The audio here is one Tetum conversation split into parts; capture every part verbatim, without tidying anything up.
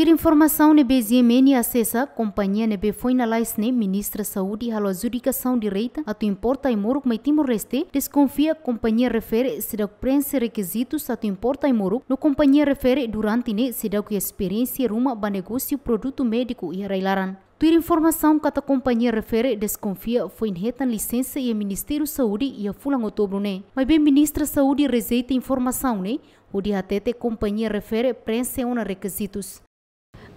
Tuir informasaun ne'ebé GMN asesa, kompañia ne'ebé foin lalais ne'e Ministra Saúde halo adjudikasaun direta atu importa ai-moruk mai Timor-Leste, deskonfia kompañia refere seidauk preenxe rekizitus atu importa ai-moruk, no kompañia refere durante ne'e seidauk iha esperiénsia ruma ba negósiu produtu médiku iha rai-laran. Tuir informasaun katak kompañia refere deskonfia foin hetan lisensa iha Ministériu Saúde iha fulan Outubru ne'e. Maibé Ministra Saúde rejeita informasaun ne'e, hodi hatete kompañia refere preenxe ona rekizitus.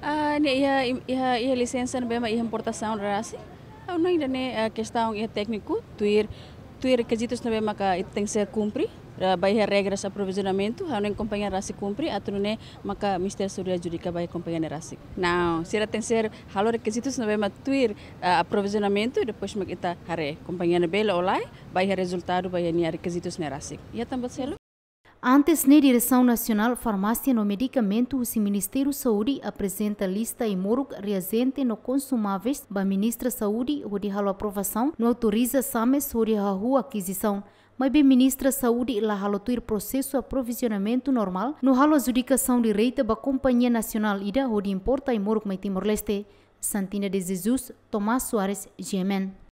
Ah, ne'e iha, iha, iha lisensa ne'ebé mak iha importasaun rasik. Ha'u hanoin ida-ne'e, ah, kestaun iha tékniku, tuir, tuir rekizitus ne'ebé maka ita tenke ser kumpre, ah, ba iha regras aprovizionamentu, ha'u hanoin kompañia rasik kumpre, atu nune'e maka Ministériu Saúde adjudika ba iha kompañia ne'e rasik. Não, sira tenke ser halo rekizitus ne'ebé mak tuir, ah, aprovizionamentu, depois mak ita haree kompañia ne'e bele ou lae, ba iha rezultadu, ba iha nia rekizitus ne'e rasik. Iha tan buat seluk? Antes ne'e, Diresaun Nasionál Farmásia no Medikamentu husi Ministériu Saúde aprezenta lista ai-moruk, reajente no konsumáveis ba Ministra Saúde hodi halo aprovasaun no autoriza SAMES hodi hahú akizisaun. Maibé Ministra Saúde la halo tuir prosesu aprovizionamentu normál no halo adjudikasaun direta ba kompañia nasionál ida hodi importa ai-moruk mai Timor-Leste. Santina de Jesus, Tomás Soares, GMN.